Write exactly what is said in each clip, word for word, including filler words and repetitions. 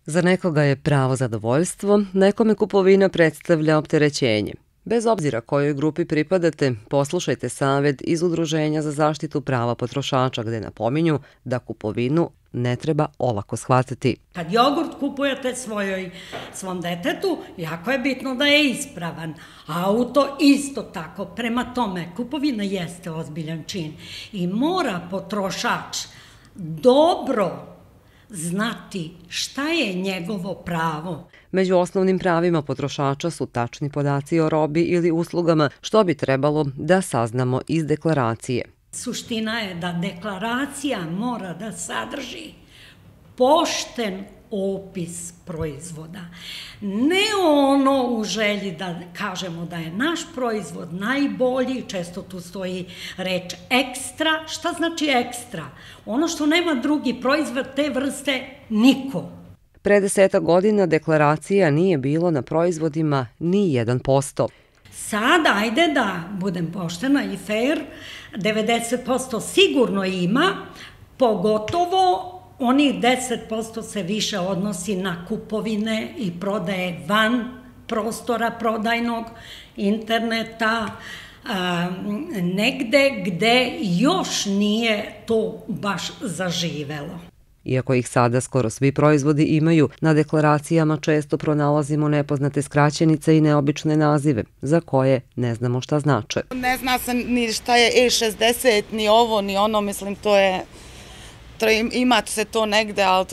Za nekoga je pravo zadovoljstvo, nekome kupovina predstavlja opterećenje. Bez obzira kojoj grupi pripadate, poslušajte savjet iz Udruženja za zaštitu prava potrošača gde napominju da kupovinu ne treba olako shvatiti. Kad jogurt kupujete svojoj, svom detetu, jako je bitno da je ispravan. Auto isto tako. Prema tome, kupovina jeste ozbiljan čin i mora potrošač dobro znati šta je njegovo pravo. Među osnovnim pravima potrošača su tačni podaci o robi ili uslugama, što bi trebalo da saznamo iz deklaracije. Suština je da deklaracija mora da sadrži pošten opis proizvoda. Ne ono u želji da kažemo da je naš proizvod najbolji, često tu stoji reč ekstra. Šta znači ekstra? Ono što nema drugi proizvod te vrste niko. Pre desetak godina deklaracija nije bilo na proizvodima ni jedan posto. Sada, ajde da budem poštena i fair, devedeset posto sigurno ima, pogotovo onih deset posto se više odnosi na kupovine i prodaje van prostora prodajnog, interneta, negde gde još nije to baš zaživelo. Iako ih sada skoro svi proizvodi imaju, na deklaracijama često pronalazimo nepoznate skraćenice i neobične nazive, za koje ne znamo šta znače. Ne zna se ni šta je E šezdeset, ni ovo, ni ono, mislim, to je... Ima se to negde, ali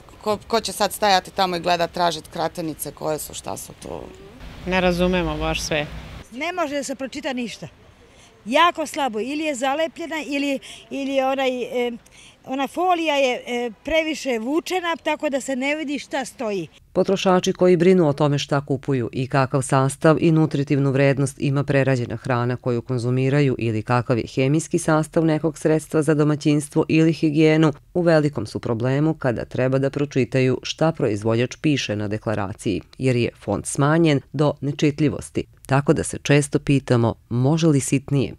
ko će sad stajati tamo i gledat, tražiti kratenice, koje su, šta su to? Ne razumemo baš sve. Ne može da se pročita ništa. Jako slabo, ili je zalepljena, ili ona folija je previše vučena, tako da se ne vidi šta stoji. Potrošači koji brinu o tome šta kupuju i kakav sastav i nutritivnu vrednost ima prerađena hrana koju konzumiraju ili kakav je hemijski sastav nekog sredstva za domaćinstvo ili higijenu, u velikom su problemu kada treba da pročitaju šta proizvođač piše na deklaraciji, jer je font smanjen do nečitljivosti, tako da se često pitamo može li sitnije.